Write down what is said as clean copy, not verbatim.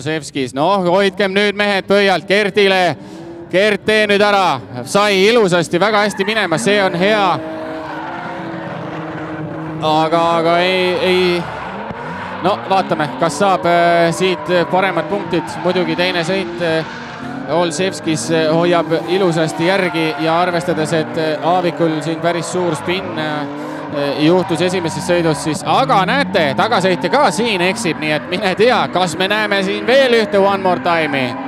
Sevskis, noh, hoidkem nüüd mehed pöialt Gertile. Gert, tee nüüd ära, sai ilusasti, väga hästi minema, see on hea. Aga ei, no vaatame, kas saab siit paremad punktid, muidugi teine sõit. Sevskis hoiab ilusasti järgi ja arvestades, et Aavikul siin päris suur spinn juhtus esimeses sõidus siis, aga näete, tagasõitja ka siin eksib, nii et mine tea, kas me näeme siin veel ühte One More Time'i.